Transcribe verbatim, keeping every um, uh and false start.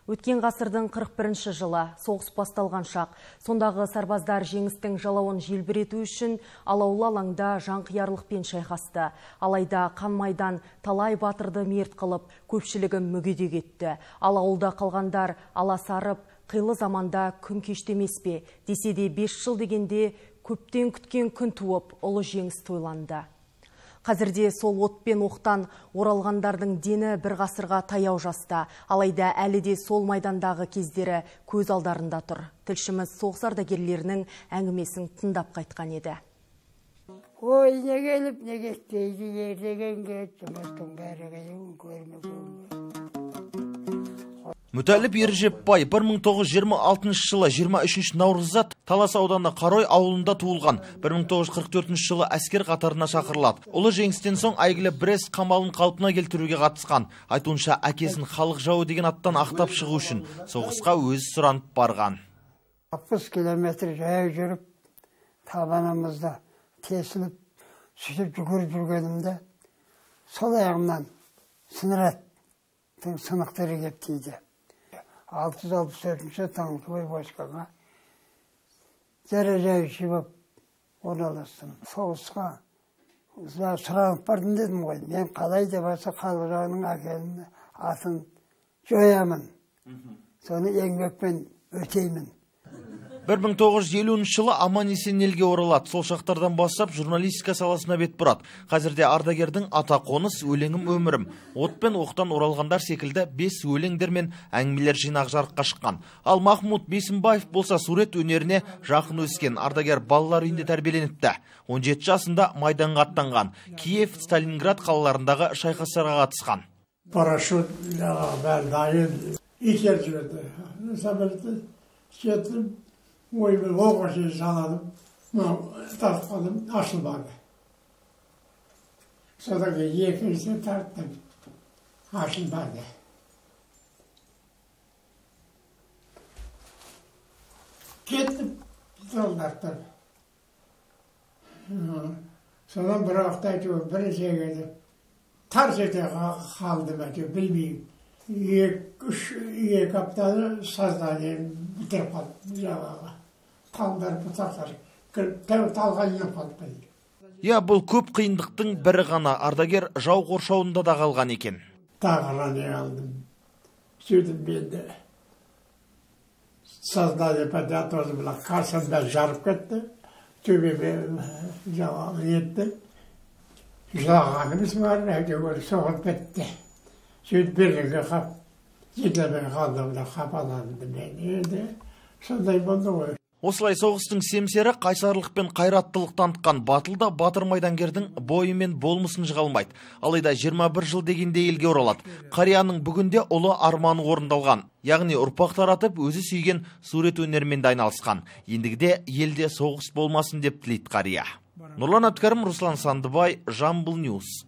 Өткен ғасырдың қырық бірінші жылы соғыс басталған шақ, сондағы сарбаздар жеңістің жалауын желбірету үшін алаулы алаңда жанқиярлықпен шайқасты. Алайда қан майдан талай батырды мерт қылып, көпшілігі мүгедек етті. Ал ауылда қалғандар аласарып, қилы заманда күн кештемес пе, десе де бес жыл дегенде көптен күткен күн туып, ұлы жеңіс тойланды. Қазірде сол от пен оқтан оралғандардың дені бір ғасырға таяу жаста. Алайда әлі де сол майдандағы кездері көз алдарында тұр. Тілшіміз соғыс ардагерлерінің әңгімесін тыңдап қайтқан еді. Ой, не келіп, не кетпейді, ертегенге, жұмыстың бәрі келіп көрмеген. Мүтәліп Ержепбай бір мың тоғыз жүз жиырма алтыншы жылы жиырма үшінші наурызда Талас ауданы Қарой ауылында туылған. бір мың тоғыз жүз қырық төртінші жылы әскер қатарына шақырылады. Ұлы жеңістен соң әйгілі Брест қамалын қалпына келтіруге қатысқан. Айтуынша әкесін халық жауы деген аттан ақтап шығу үшін соғысқа өзі сұранып барған. алпыс километр жаяу жүріп, табанымызда тесіліп, сөйтіп жүгіріп жүргенімде, сол аяғымнан снарядтың сынықтары кеп тиді. алты жүз алпыс төртінші танковый войскаға дәрежеші болып орналастым. Соғысқа сұранып бардым дедім ғой. Мен қалай деп баса халық жағының әкелін атын жоямын. Соны еңбекпен өтеймін. бір мың тоғыз жүз елуінші жылы аман-есен елге оралады. Сол шақтардан бастап журналистика саласына бет бұрады. Қазірде ардагердің ата қоныс, өлеңім өмірім, от пен оқтан оралғандар секілді бес өлеңдер мен әңгімелер жинақ жарыққа шыққан. Ал Махмуд Бейсенбаев болса сурет өнеріне жақын өскен. Ардагер балалар үйінде тәрбиеленіпті. он жеті жасында майданға аттанған. Киев, Сталинград қалаларындағы шайқастарға қатысқан. Парашют бәрі дайын итер жүреді. Сәбірді кетіп, оймен оғашы жаладым, тартқаным, ашылмады. Содан кейін екінші тарттым, ашылмады. Кеттім, солдаттар. Содан бір уақытта әйтеуір бір жегеді. Тарс ете қалдым әйтеуір, білмеймін. Екі аптаны сознанием бітіріп қалдым жағаға. Талдар, бұтақтар, талға еп қалдым. Я, бұл көп қиындықтың бірі ғана. Ардагер жау қоршауында да қалған екен. Тағыра не алдым. Сөйтіп менде сознание поднятосы была. Қарсымда жарып кетті. Төбеме жағалы етті. Жылағанымыз бар, әйтеуір соғып кетті. Сөйтіп берлігі қап, жетілмей қалдымда қапаланды мен. Енді сондай болды ғой. Осылай соғыстың семсері қайсарлық пен қайраттылық танытқан батылда батыр майдангердің бойы мен болмысын жығалмайды. Алайда жиырма бір жыл дегенде елге оралады. Қарияның бүгінде ұлы арманы орындалған. Яғни ұрпақ таратып, өзі сүйген сурет өнерімен де айналысқан. Ендігіде елде соғыс болмасын деп тілейді қария. Нұрлан Әбдікәрім, Руслан Сандыбай, Жамбыл Ньюс.